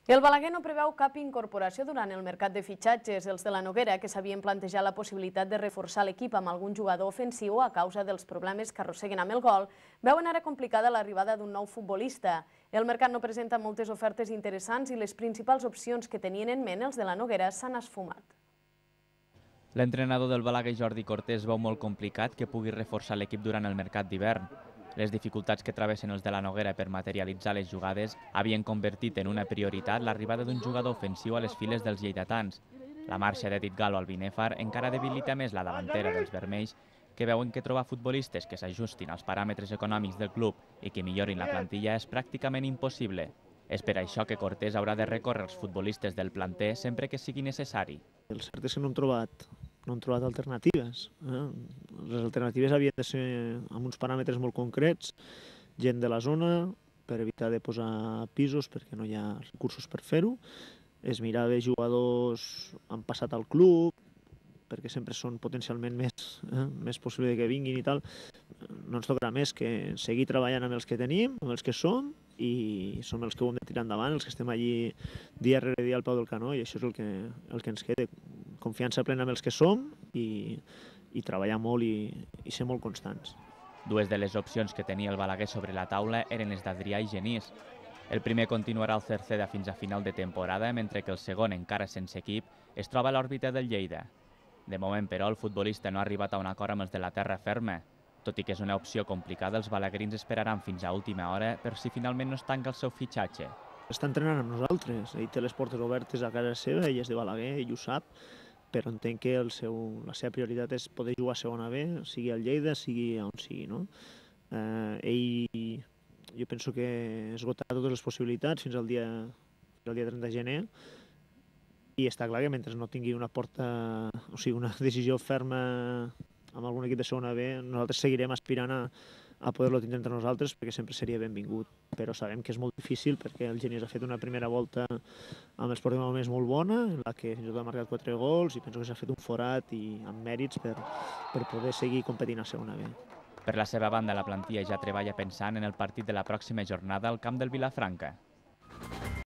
El Balaguer no preveu cap incorporació durant el mercat de fitxatges. Els de la Noguera, que s'havien plantejat la possibilitat de reforçar l'equip amb algun jugador ofensiu a causa dels problemes que arrosseguen amb el gol, veuen ara complicada l'arribada d'un nou futbolista. El mercat no presenta moltes ofertes interessants i les principals opcions que tenien en ment els de la Noguera s'han esfumat. L'entrenador del Balaguer, Jordi Cortés, veu molt complicat que pugui reforçar l'equip durant el mercat d'hivern. Les dificultats que travessen els de la Noguera per materialitzar les jugades havien convertit en una prioritat l'arribada d'un jugador ofensiu a les files dels lleidatans. La marxa d'Edith Galo al Binèfar encara debilita més la davantera dels vermells, que veuen que trobar futbolistes que s'ajustin als paràmetres econòmics del club i que millorin la plantilla és pràcticament impossible. És per això que Cortés haurà de recórrer als futbolistes del planter sempre que sigui necessari. El cert és que no hem trobat alternatives. Les alternatives havien de ser amb uns paràmetres molt concrets, gent de la zona, per evitar de posar pisos perquè no hi ha recursos per fer-ho. Es mirava jugadors han passat al club, perquè sempre són potencialment més possible que vinguin i tal. No ens tocarà més que seguir treballant amb els que tenim, amb els que som, i som els que ho hem de tirar endavant, els que estem allí dia rere dia al peu del canó, i això és el que ens queda. Confiança plena amb els que som i treballar molt i ser molt constants. Dues de les opcions que tenia el Balaguer sobre la taula eren les d'Adrià i Genís. El primer continuarà al Cerceda fins a final de temporada, mentre que el segon, encara sense equip, es troba a l'òrbita del Lleida. De moment, però, el futbolista no ha arribat a un acord amb els de la terra ferma. Tot i que és una opció complicada, els balaguerins esperaran fins a última hora per si finalment no es tanca el seu fitxatge. Està entrenant amb nosaltres, ell té les portes obertes a casa seva, ell és de Balaguer, ell ho sap, però entenc que la seva prioritat és poder jugar a segona B, sigui al Lleida, sigui on sigui, no? Jo penso que esgotarà totes les possibilitats fins al dia 30 de gener, i està clar que mentre no tingui una decisió ferma amb algun equip de segona B, nosaltres seguirem aspirant a poder-lo tindre entre nosaltres, perquè sempre seria benvingut. Però sabem que és molt difícil perquè el Genís ha fet una primera volta amb els ports de moments molt bona, en la que fins i tot ha marcat 4 gols, i penso que s'ha fet un forat i amb mèrits per poder seguir competint a segona B. Per la seva banda, la plantilla ja treballa pensant en el partit de la pròxima jornada al camp del Vilafranca.